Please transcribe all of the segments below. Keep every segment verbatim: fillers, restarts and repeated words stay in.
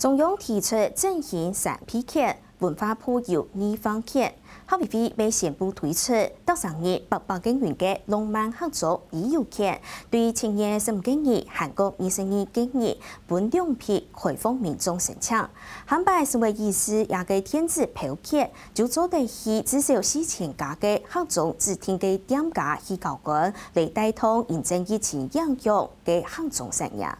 中央提出振興三P券，文化部有二方券。客委會也宣布推出逐成人八百个銀个浪漫客庄旅遊券，對七月十五个日還過二十二个日分兩批開放民眾申請。下擺十月二十這个電子票券，就做得去至少四千家个客庄指定个店家去交關，來帶動因應疫情影響个客庄產業。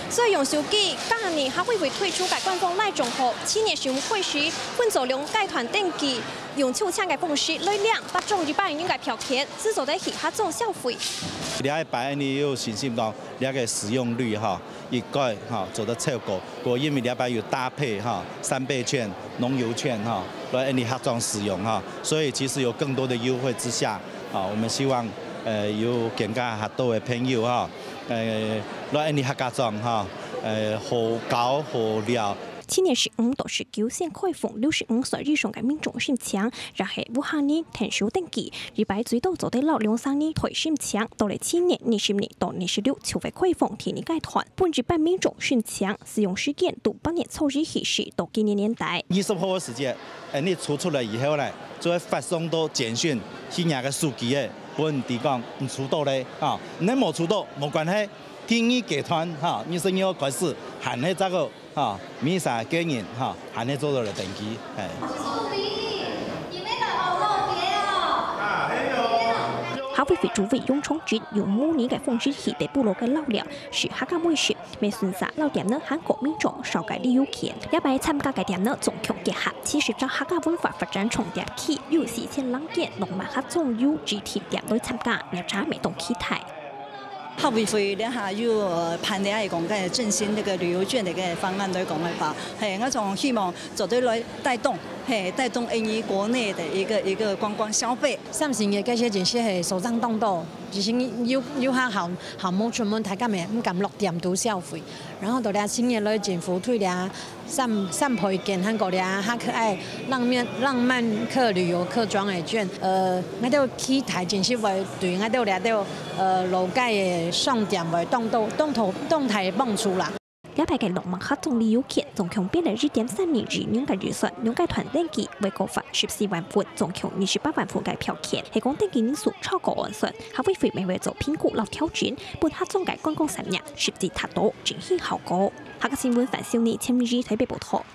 所以用手機，今年客委會推出个官方LINE帳號，七月十五開始，分做兩个團登記，用抽籤个方式來領八張一百元个票券，就做得去客庄消費。這一擺𠊎有信心講，這个使用率哈，應該哈做得超過。過因為這擺有搭配哈，三倍券、農遊券哈，來𠊎客庄使用哈，所以其實有更多的優惠之下，啊，我們希望，呃，有更加較多的朋友哈， 呃，來𠊎客家庄哈，呃，好搞好尞。七月十五到十九先開放六十五歲以上个民眾申請，也係屋下人𢯭手登記，一擺最多做得摎兩儕人代申請。到了七月二十日到二十六就會開放第二階段，分一般民眾申請，使用時間對八月初一開始到今年年底。二十號个時節，𠊎抽出來以後呢，就會發送到簡訊去若个手機个，分佢講你抽到咧，啊，你無抽到無關係， 第二階段哈，二十二號開始，還係再過哈，每儕个人哈，還係做得來登記，係。客委會主委楊長直用模擬个方式去在部落个老寮，食客家美食，也順續摎店仔還過民眾紹介旅遊券。這擺參加个店仔總共結合七十隻客家文化發展重點區，有四千零間浪漫客庄有指定店來參加，業者也當期待。 客委會這下又，呃，辦理个講个振興這个旅遊券个一个方案來講个話，嘿，𠊎總希望做得來帶動，嘿，帶動𠊎國內个一个，一个觀光消費。三星个該些真係係所長當多，其實有，有下項，項目出門，大家也毋敢落店肚消費。然後到這新年來政府推這三，三倍券，還過這下可愛浪漫，浪漫客旅遊客庄个券，呃，𠊎兜期待真係會對𠊎兜這兜 呃，老街个商店會當到，當頭，當大个幫助啦。這擺个浪漫客庄旅遊券總共編了一點三二億元个預算，兩个團登記會各發十四萬份，總共二十八萬份个票券，係講登記人數超過預算，客委會也會做評估摎調整，分客庄个觀光產業實際達到振興效果。客家新聞范秀妮、陳明儀台北報導。